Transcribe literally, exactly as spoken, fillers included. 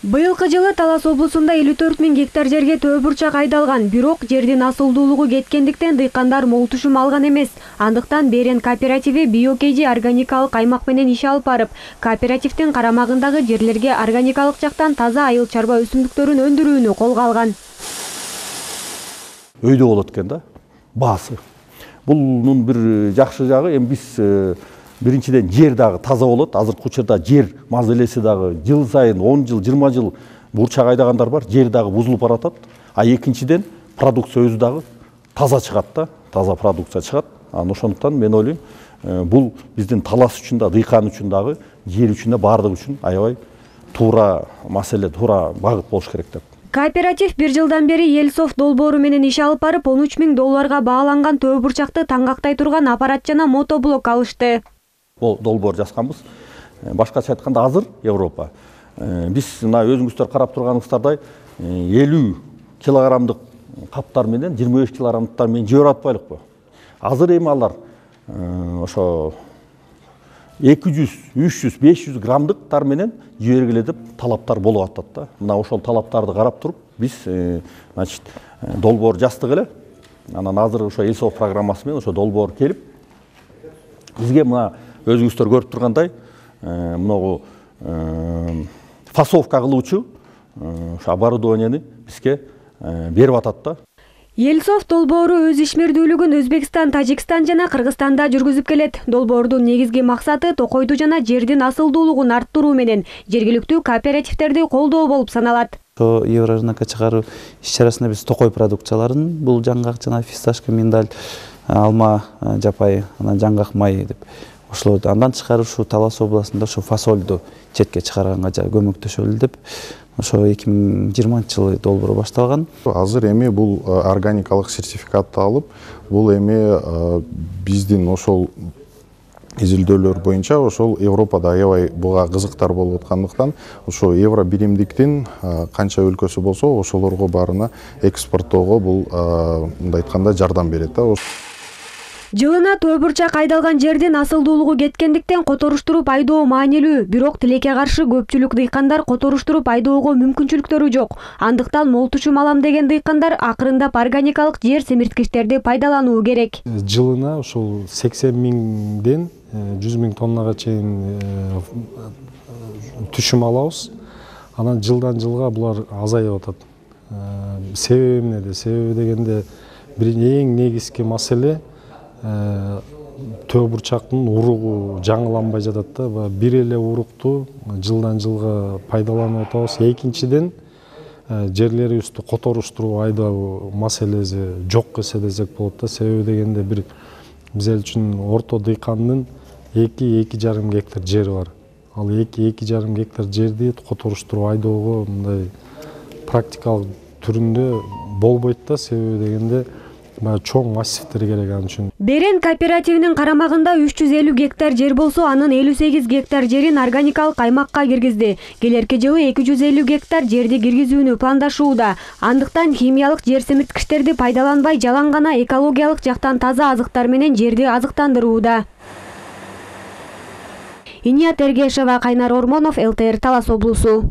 Быйылкы жылы Талас облусунда элүү төрт миң гектар жерге төө бурчак айдалган, бирок жердин асылдуулугу кеткендиктен дыйкандар мол түшүм алган эмес. Андыктан Берен кооперативи биокейди органикалык аймак менен иш алып барып, кооперативдин карамагындагы жерлерге органикалык жактан таза айыл чарба өсүмдүктөрүн өндүрүүнү колго алган. Өйдө болот экен да, баасы. Бунун бир жакшы жагы, эми биз биринчиден жер дагы таза болот. Азыркы учурда жер мазелеси дагы жыл сайын он жыл, жыйырма жыл бурчак айдагандар бар, жер дагы бузулуп баратат. А экинчиден продукция өзү дагы таза чыгат да, таза продукция чыгат. Анан ошондуктан мен ойлойм, бул биздин Талас үчүн да, дыйкан үчүн дагы, жер үчүн да, баардыгы үчүн аябай туура маселе, туура багыт болуш керек деп. Кооператив бир жылдан бери Елсофт долбоору менен иш алып барып, он үч миң долларга бааланган төө бурчакты таңгактай турган аппарат жана мотоблок алышты. Бул долбоор жазганбыз. Башкача айтканда азыр Европа. Биз мына өзүңүздөр карап турганыңыздардай элүү килограммдык каптар менен жыйырма беш килограммдыктар менен жибере атпайлыкпы? Азыр эми алар ошо эки жүз, үч жүз, беш жүз граммдыктар менен жибергиле деп талаптар болуп атат да. Мына ошол талаптарды карап туруп биз значит долбоор жаздык эле. Анан азыр ошо Елсофт программасы менен ошо долбоор келип бизге мына өзүңүздөр көрүп тургандай, мынагу фасовка кылуучу ошо оборудованияны бизге берип атат да. Елсофт долбоору өз ишмердүүлүгүн Өзбекстан, Тажикстан жана Кыргызстанда жүргүзүп келет. Долбоордун негизги максаты токойду жана жердин асылдуулугун арттыруу менен жергиликтүү кооперативтерди колдоо болуп саналат. Ошо еврорынокко чыгаруу иш-чарасында биз токой продукцияларын, бул жаңгак жана фисташка, миндаль, алма жапайы, анан жаңгак май деп ошолорду андан тышкары ушу Талас областында ошо фасолду четке чыгарганга көмөктөшөлү деп ошо эки миң жыйырманчы жылы долбоор башталган. Азыр эми бул органикалык сертификатты алып, бул эми биздин ошол изилдөөлөр боюнча ошол Европада аябай буга кызыктар болуп аткандыктан ошо евро биримдиктин канча өлкөсү болсо ошолорго баарына экспорттоого бул мындай айтканда жардам берет да. Жылына төө бурчак айдалган жердин асылдуулугу кеткендиктен которуштуруп айдоо маанилүү, бирок тилекке каршы көпчүлүк дыйкандар которуштуруп айдоого мүмкүнчүлүктөрү жок. Андыктан мол түшүм алам деген дыйкандар акырындап органикалык жер семирткичтерди пайдалануу керек. Жылына ошол сексен миңден жүз миң тоннага чейин түшүм алабыз. Анан жылдан жылга булар азайып атат. Себеби эмнеде? Себеби дегенде бир эң негизги маселе төө бурчактын уругу жаңыланбай жатат да. Бир эле урукту жылдан жылга пайдаланып атабыз. Экинчиден жерлерибизди которуштуруп айдоо маселеси жок эсе десек болот да. Себеби дегенде бир бизел үчүн орто дыйкандын эки эки жарым гектар жери бар. Ал эки эки жарым гектар жерди которуштуруп айдоого мындай практикалык түрүндө болбойт да. Себеби дегенде чоң массивтер керек ал үчүн. Берен кооперативинин карамагында үч жүз элүү гектар жер болсо, анын элүү сегиз гектар жерин органикалык аймакка киргизди. Келерки жылы эки жүз элүү гектар жерди киргизүүнү пландашууда. Андыктан химиялык жер семирткичтерди пайдаланбай, жалаң гана экологиялык жактан таза азыктар менен жерди азыктандырууда. Иният Эргешева, Кайнар Ормонов, эл тэ эр Талас облусу.